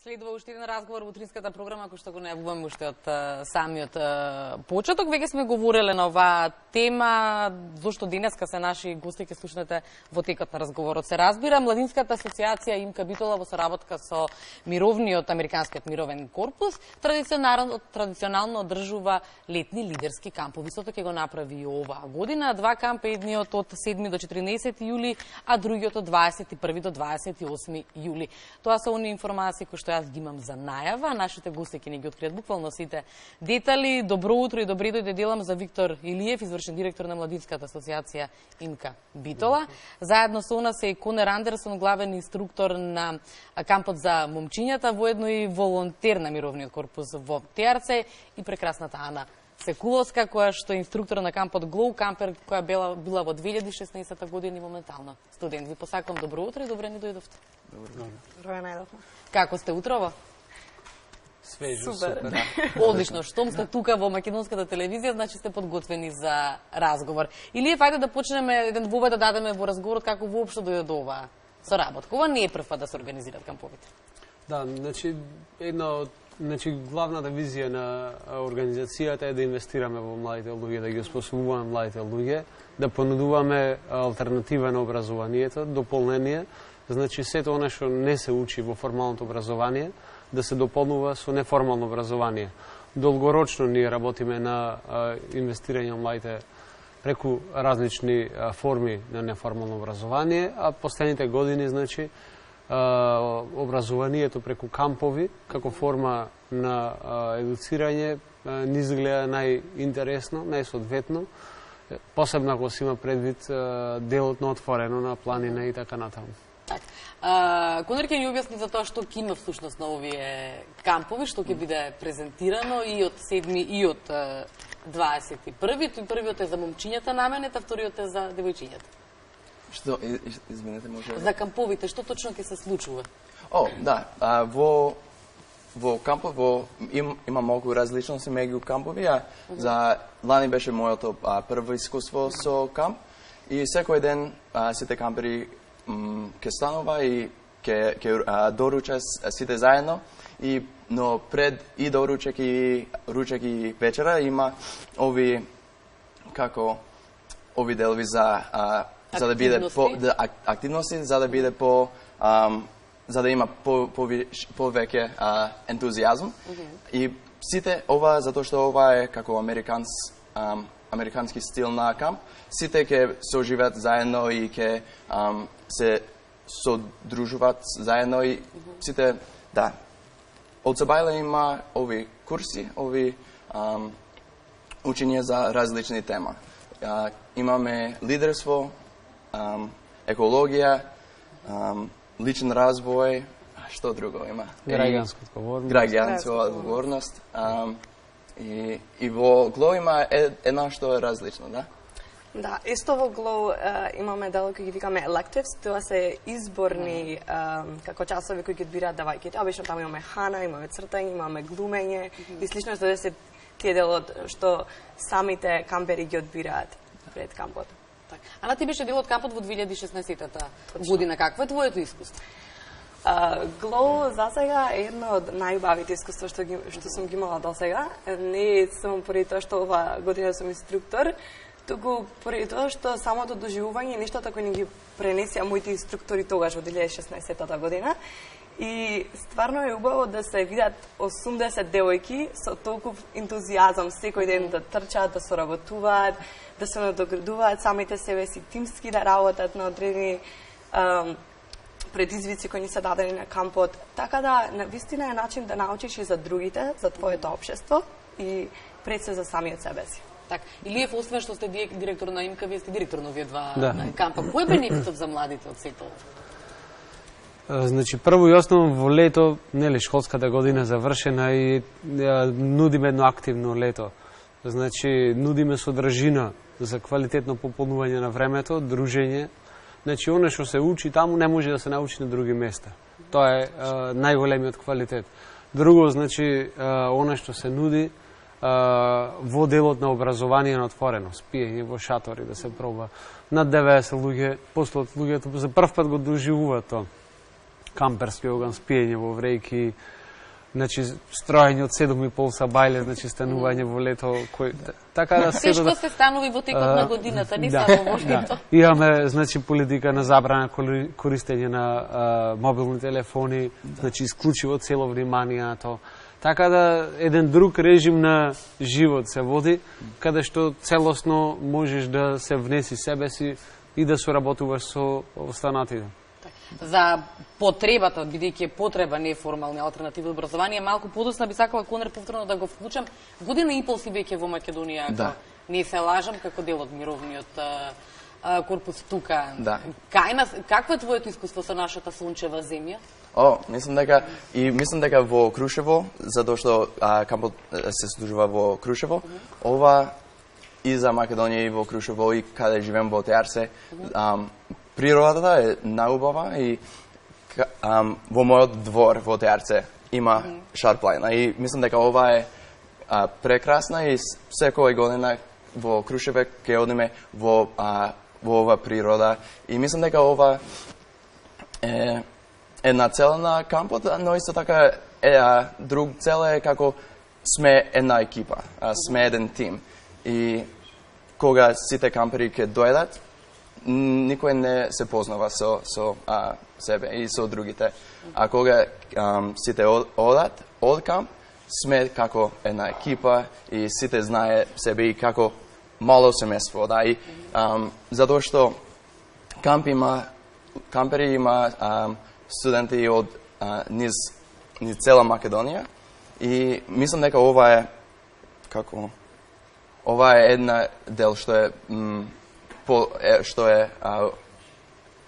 Следува уште еден разговор во утринската програма, кој што го најавуваме уште од самиот почеток. Веќе сме говореле на оваа тема, зошто денеска се наши гости, ќе слушнете во текот на разговорот. Се разбира, Младинската асоциација Имка Битола во соработка со мировниот Американскиот мировен корпус традиционално одржува летни лидерски кампови. Истото ќе го направи и оваа година. Два кампа, едниот од 7 до 14 јули, а другиот од 21 до 28 јули. Тоа се оние информации кои што јас ги имам за најава. Нашите гости ќе ни ги откријат буквално сите детали. Добро утро и добри дојде делам за Виктор Илиев, извршен директор на Младинската асоциација Имка Битола. Заедно со нас е Конер Андерсон, главен инструктор на кампот за момчињата, воедно и волонтер на мировниот корпус во ТРЦ, и прекрасната Ана Секуловска, која што е инструктор на кампот Глоу Кампер, која била во 2016 година и моментално студент. Ви посакувам добро утро и добре ни дојдовте. Добро најдовме. Како сте утрово? Свежо, супер. супер. Одлично, штом сте тука во македонската телевизија, значи сте подготвени за разговор. Или фајде да почнеме еден вовед да дадеме во разговорот како воопшто дојде до оваа соработка. Ова не е прв пат да се организираат камповите. Да, значи главната визија на организацијата е да инвестираме во младите луѓе, да ги осposobуваме младите луѓе, да понудуваме алтернатива на образованието, дополнение. Значи сето она што не се учи во формалното образование, да се дополнува со неформално образование. Долгорочно ние работиме на инвестирање во младите преку различни форми на неформално образование, а последните години, значи, образованието преку кампови, како форма на едуцирање, ни изгледа најинтересно, најсоодветно, посебно ако се има предвид делот на отворено, на планина и така натаму. Конер ќе ни објасни за тоа што ќе има всушност на овие кампови, што ќе биде презентирано и од 7 и од 21. Првиот е за момчињата наменет, а вториот е за девојчињата. Што, извинете, може? За камповите, што точно ќе се случува? О, да, во кампов има многу различности меѓу кампови, за лани беше моето прво искуство со камп и секој ден сите кампери ќе станува и ќе доруча сите заедно, но пред и доручек и вечера има ови делови за да биде активности, за да биде за да има повеќе ентузијазм. И сите ова, затоа што ова е како американски стил на камп, сите ќе се оживеат заедно и ќе се содружуваат заедно и сите, да. Од Сабајле има ови курси, ови учења за различни тема. Имаме лидерство, екологија, личен развој, што друго има? Граѓанска одговорност. И во Глоу има една што е различно, да? Да, исто во Глоу имаме дел кои ги викаме electives, тоа се изборни како часови кои ги одбираат девојките. Обично таму имаме хана, имаме цртање, имаме глумење и слично што се тие делот што самите кампери ги одбираат пред кампот. Ана, ти беше дел од кампот во 2016 година. Какво е твоето искуство? Глоу за сега е едно од најубавите искуства што сум ги имала до сега. Не само поради тоа што ова година сум инструктор, туку поради тоа што самото доживување и нештата кои ни ги пренесеа моите инструктори тогаш во 2016 година. И стварно е убаво да се видат 80 девојки со толков ентузијазам секој ден да трчаат, да соработуваат, да се надоградуваат самите себе си, тимски да работат на одредени предизвици кои ни се дадени на кампот. Така да, навистина е начин да научиш и за другите, за твоето општество и пред се за самиот себе си. Так, Илиев, освен што сте директор на Имка, вие сте директор на овие два кампа. Кој е бенефитот за младите од сето? Значи, прво и основно во лето, нели, школската година завршена и нудиме едно активно лето. Значи, нудиме содржина за квалитетно пополнување на времето, дружење. Значи, оно што се учи таму не може да се научи на други места. Тоа е најголемиот квалитет. Друго, значи, оно што се нуди во делот на образование на отворено, спиење во шатори, да се проба. Над 90 луѓе, после од луѓето за прв пат го доживуваат тоа. камперски оган, спиење во врејки, значи строење од 7,5 са бајле, значи станување во лето, така да се што се станови во текот на годината, не само во лето. Имаме значи политика на забрана користење на мобилни телефони, значи исклучиво цело внимание на тоа. Така да еден друг режим на живот се води, каде што целосно можеш да се внеси себе си и да соработуваш со останатите. За потребата, бидејќи е потреба неформални алтернативи образование, малку подосна би сакала Конер повторно да го вклучам. Година и пол си веќе во Македонија, ако не се лажам, како дел од мировниот корпус тука. Да. Какво е твоето искуство со нашата сончева земја? Мислам дека во Крушево, затоа што кампот се содржува во Крушево, ова и за Македонија и во Крушево и каде живеем во Теарсе, природата е наубава и во мојот двор во Теарце има шарплајна и мислам дека ова е прекрасна и секоја година во Крушеве ќе одиме во ова природа и мислам дека ова е една цела на кампот, но исто така друг цел е како сме една екипа, сме еден тим и кога сите кампери ќе дојдат, никој не се познава со себе и со другите. А кога сите одат од камп, сме како една екипа и сите знае себе и како мало семејство. Да, и затоа што кампери има студенти од низ цела Македонија и мислам дека ова е една дел што е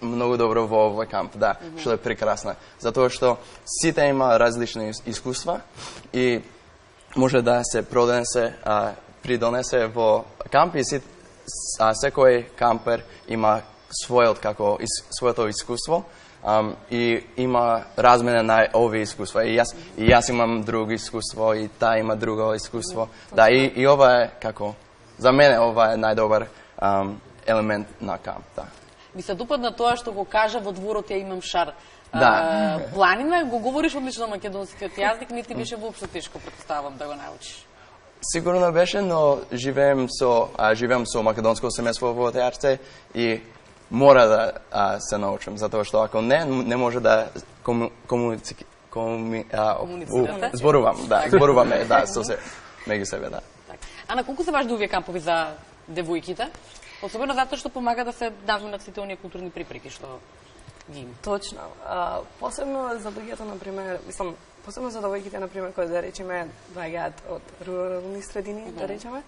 многу добро во овој камп, да, што е прекрасна. Затоа што сите има различни искуства и може да се придонесе во камп и секој кампер има своето искуство и има размена на овие искуства. И јас имам друго искуство и таа има друго искуство. Да, и ова е за мене ова е најдобар елемент на камп, да. Ми се допадна тоа што го кажа во дворот ја имам шар. Да. Планина, го говориш одлично македонскиот јазик, не ти беше воопшто тешко, претставам, да го научиш. Сигурно беше, но живеем со македонско семејство во Теарце и мора да се научам, затоа што ако не може да зборуваме, да, со се меѓу себе, да. А на колку се важни овие кампови за девојките? Особено затоа што помага да се навминат сите оние културни припреки што ги има. Точно. Посебно за луѓето, например, посебно за девојките, например, кои да речеме доаѓаат од рурални средини, да речеме.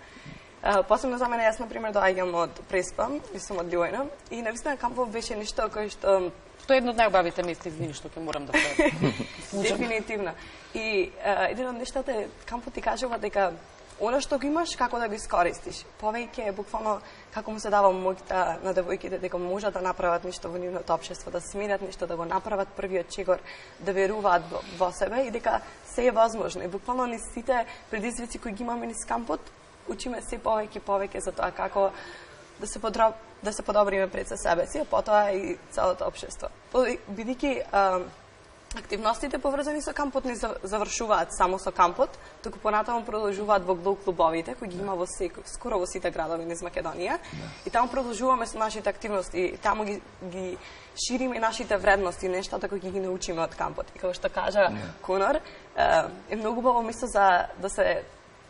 Посебно за мене, јас, например, доаѓам од Преспа, и сум од Лјојна, и навистина кампов беше нешто кој што... Тоа е едно од најубавите места, извини, што ќе морам да се случам. Дефинитивно. И еден од нештата е, кампот ти кажува дека она што го имаш, како да го искористиш. Повеќе, буквално, како му се дава моќта на девојките, дека можат да направат нешто во нивното општество, да сменат нешто, да го направат првиот чегор, да веруваат во себе и дека се е возможно. И буквално ни сите предизвици кои ги имаме низ кампот, учиме се повеќе за тоа како да се подобриме пред себе си, а потоа и целото општество. Бидејќи активностите поврзани со кампот не завршуваат само со кампот, туку понатаму продолжуваат во глоу клубовите кои ги има скоро во сите градови низ Македонија. И таму продолжуваме со нашите активности, таму ги шириме нашите вредности, нештата кои ги научиме од кампот. И како што кажа Конор, е многу убаво место за да се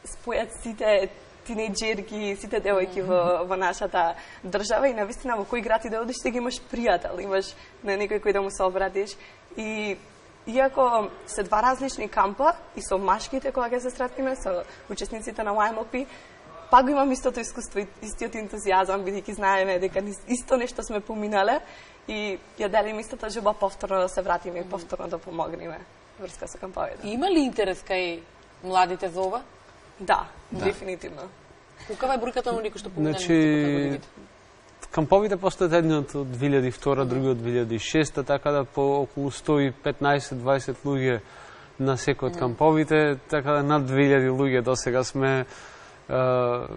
спојат сите тинејџерки, сите девојки во нашата држава и навистина во кој град и да одиш, сега имаш пријател, имаш на некој кој да му се обратиш. И иако се два различни кампа и со машките кога ќе се сретнеме со учесниците на YMLP, пак го имам истото искуство и истиот ентузијазам, бидејќи знаеме дека исто нешто сме поминале и ја делиме истата џуба повторно да се вратиме и повторно да помогнеме врска со камповите. Има ли интерес кај младите за ова? Да, дефинитивно. Каква е бројката на оние кои што поминале? Камповите постојат едниот од 2002, другиот од 2006, така да по околу 115-20 луѓе на секој од камповите, така да над 2000 луѓе досега сме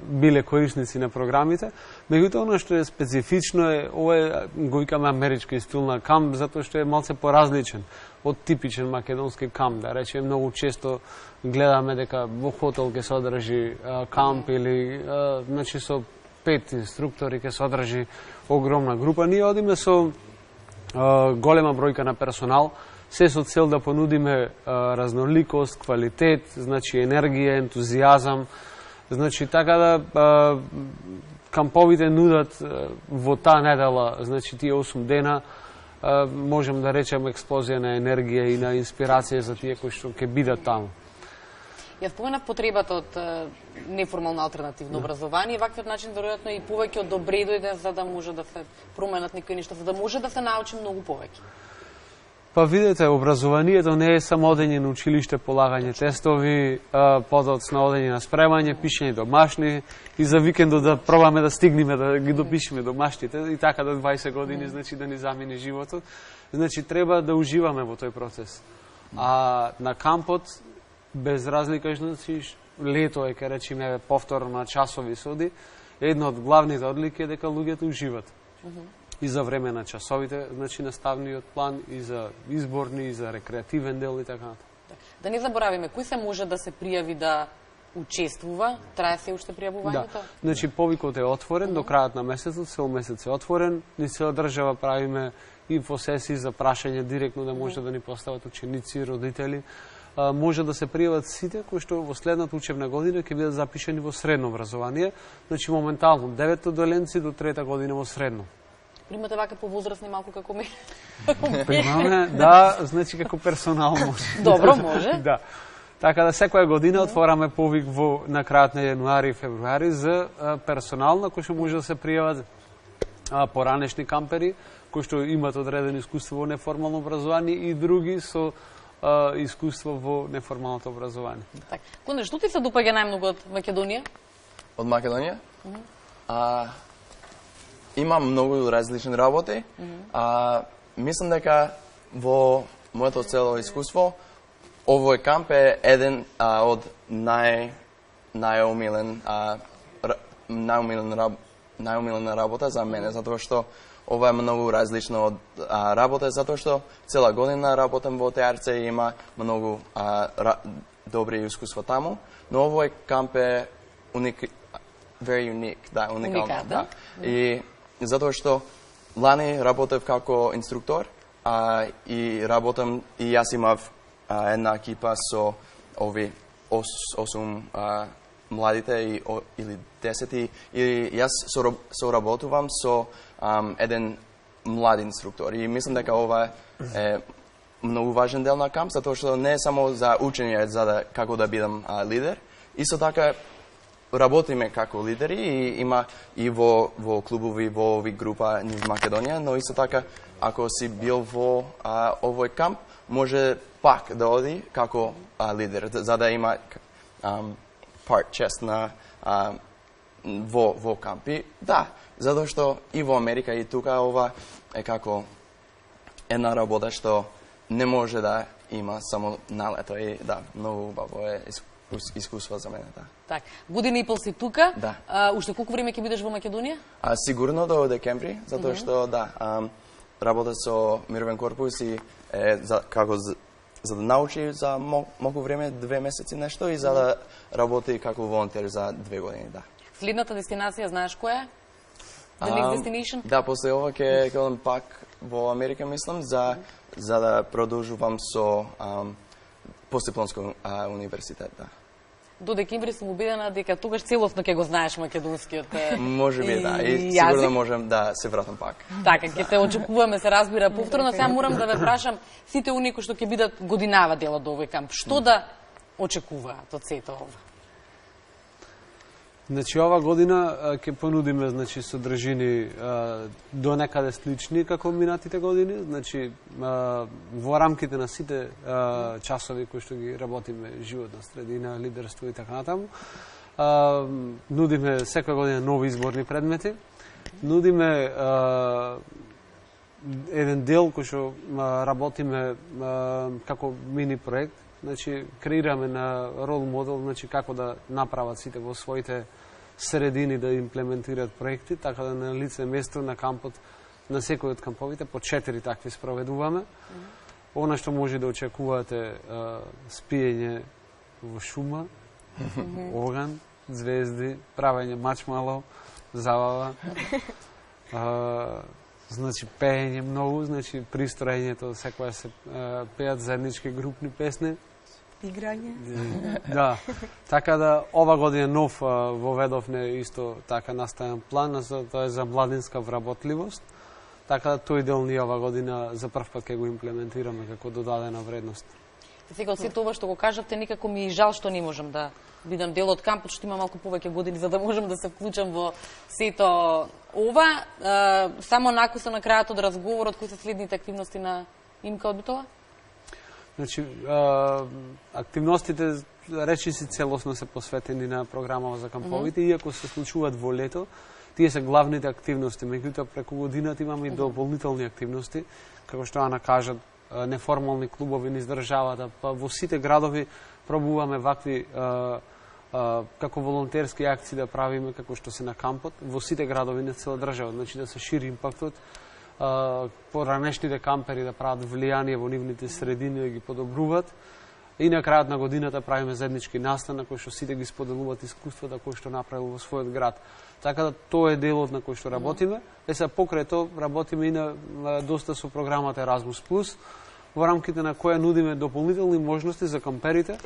биле корисници на програмите. Меѓутоа, оно што е специфично е, ова го викаме амерички стил на камп, затоа што е малце поразличен од типичен македонски камп. Да речем, многу често гледаме дека во хотел ќе се одржи камп или значи со 5 инструктори ќе се одржи огромна група. Ние одиме со голема бројка на персонал, се со цел да понудиме разноликост, квалитет, значи енергија, ентузијазам. Значи така да камповите нудат во таа недела, значи тие 8 дена, можем да речем експлозија на енергија и на инспирација за тие кои што ќе бидат таму. Ја споменав потребата од неформално алтернативно образование, ваквиот начин веројатно и повеќе одобредојде за да може да се променат некои нешта, за да може да се научи многу повеќе. Па видете, образованието не е само одење на училиште, полагање тестови, подоцна одење на спремање, пишење домашни и за викендот да пробаме да стигнеме да ги допишеме домашните и така до 20 години, значи да ни замине животот. Значи треба да уживаме во тој процес. А на кампот без разлика, значи лето е, ке речеме, повторно на часови соди, една од главните одлики е дека луѓето уживат. И за време на часовите, значи наставниот план, и за изборни, и за рекреативен дел и така натаму. Да не заборавиме, кој се може да се пријави да учествува? Трае се уште пријавувањето? Да. Значи повикот е отворен до крајот на месецот, цел месец е отворен. Ни цела држава правиме инфосесии за прашање директно да може да ни постават ученици, родители. Може да се пријават сите кои што во следната учебна година ќе бидат запишани во средно образование. Значи моментално 9 доленци до 3-та година во средно. Примате вака повозрастни малку како мене? Примаме, да, значи како персонал може. Добро, може. Да. Така да секоја година отвораме повик на крајот на јануари и февруари за персонал на кој што може да се пријават поранешни кампери кои што имат одредено искуство во неформално образование и други со искуство во неформалното образование. Така. Кондре, што ти се допаѓа најмногу од Македонија? Од Македонија? Има многу различни работи. Мислам дека во моето цело искуство овој камп е еден од најомилена работа за мене, затоа што ова е многу различно од работа, затоа што цела година работам во ТРЦ и има многу добри искуства таму, но овој камп е very unique, да, уникално, да. И затоа што лани работев како инструктор и работам и јас имав една екипа со ови 8 младите или 10 и јас соработувам со еден млад инструктор и мислам дека ова е многу важен дел на камп, затоа што не е само за учење за да како да бидам лидер, исто така работиме како лидери и има и во клубови, во ови група низ Македонија, но исто така ако си бил во овој камп, може пак да оди како лидер, за да има чест на во камп. И да, затоа што и во Америка и тука ова е како една работа што не може да има само на лето и да, многу убаво е искуство за мене, да. Так, година и пол си тука. Да. Уште колку време ќе бидеш во Македонија? Сигурно до декември, затоа што да, работа со Мировен корпус и како за да научи за многу време, 2 месеци нешто и за да работи како волонтер за 2 години, да. Следната дестинација знаеш која е? The next destination? Да, после ова ќе одам пак во Америка, мислам, за да продолжувам со Постдипломско универзитет, да. До декември сум убедена дека тогаш целосно ќе го знаеш македонскиот може би, да, и сигурно можем да се вратам пак. Така, ќе те очекуваме, се разбира, повторно. Сега морам да ве прашам, сите оние кои што ќе бидат годинава дел од овој камп, што да очекуваат од сето ова? Значи, ова година ќе понудиме, значи, содржини до некаде слични како минатите години. Значи, во рамките на сите часови кои што ги работиме, животна средина, лидерство и така натаму, нудиме секоја година нови изборни предмети. Нудиме еден дел кој што работиме како мини проект, значи креираме на рол модел, значи како да направат сите во своите средини да имплементираат проекти, така да на лице место на кампот, на секој од камповите по 4 такви спроведуваме. Она што може да очекувате спиење во шума, оган, звезди, правење мачмало, забава, значи пеење многу, значи пристроењето секоја се пеат заеднички групни песни. Играње. Да, така да ова година нов воведовне исто така наставен план, тоа е за младинска вработливост. Така да тој дел ние ова година за прв пат ќе го имплементираме како додадена вредност. Сега од сето ова што го кажавте, никако ми е жал што не можам да бидам дел од кампот, што има малку повеќе години за да можам да се вклучам во сето ова. Само накуса на крајот од разговорот, кои се следните активности на Имка од Битола? Значи, активностите речиси целосно се посветени на програмава за камповите, иако се случуваат во лето, тие се главните активности. Меѓутоа, преку годината имаме и дополнителни активности, како што Ана кажат, неформални клубови низ државата, па во сите градови пробуваме вакви како волонтерски акции да правиме, како што се на кампот, во сите градови на цела држава, значи да се шири импактот, поранешните кампери да прават влијание во нивните средини, да ги подобруваат. И на крајот на годината правиме заеднички настан на кој што сите ги споделуваат искуствата кои што направил во својот град. Така да тоа е делот на кој што работиме. Сега покрај тоа работиме и на доста со програмата Erasmus+, во рамките на која нудиме дополнителни можности за камперите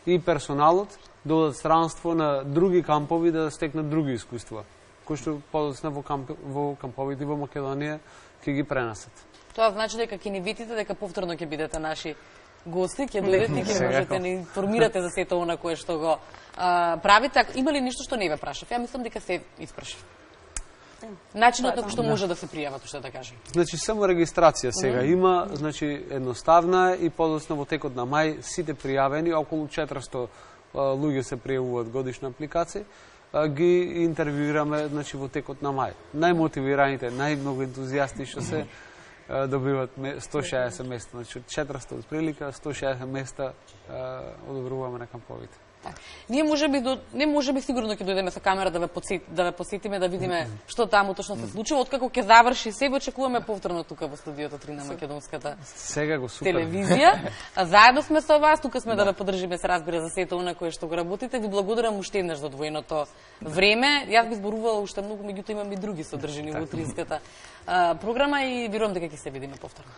и персоналот да одат странство на други кампови да стекнат други искуства, кои што подоцна во камповите во Македонија ќе ги пренесат. Тоа значи дека ќе ни витите, дека повторно ќе бидете наши гости, ќе дојдете и ќе можете да ни информирате за сето она кое што го правите. Има ли ништо што не ве прашав? Ја мислам дека се испрашав. Начинот на кој што може да се пријават, што да кажем. Значи само регистрација сега има, значи едноставна и подоцна во текот на мај сите пријавени, околу 400 луѓе се пријавуваат годишна апликација, ги интервјуираме значи во текот на мај. Најмотивираните, најмногу ентузијасти што се добиват 160 места, значи 400 од прилика, 160 места одобруваме на камповите. Ние не можеби сигурно ќе дојдеме со камера да ве посетиме, да видиме што таму точно се случува. Откако ќе заврши се, очекуваме повторно тука во студиото 3 на Македонската телевизија. Заедно сме со вас, тука сме да ве поддржиме, се разбира, за сето она кое што го работите. Ви благодарам уште еднаш за одвоеното време. Јас би зборувала уште многу, меѓутоа имам и други содржини во утринската програма и верувам дека ќе се видиме повторно.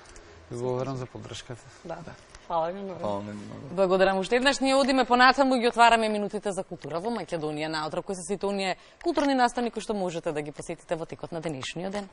Благодарам за поддршката. Да. Фала ви многу. Благодарам уште еднаш. Ние одиме понатаму и ги отвараме минутите за култура во Македонија наутро, кои се сите оние културни настани кои што можете да ги посетите во текот на денешниот ден.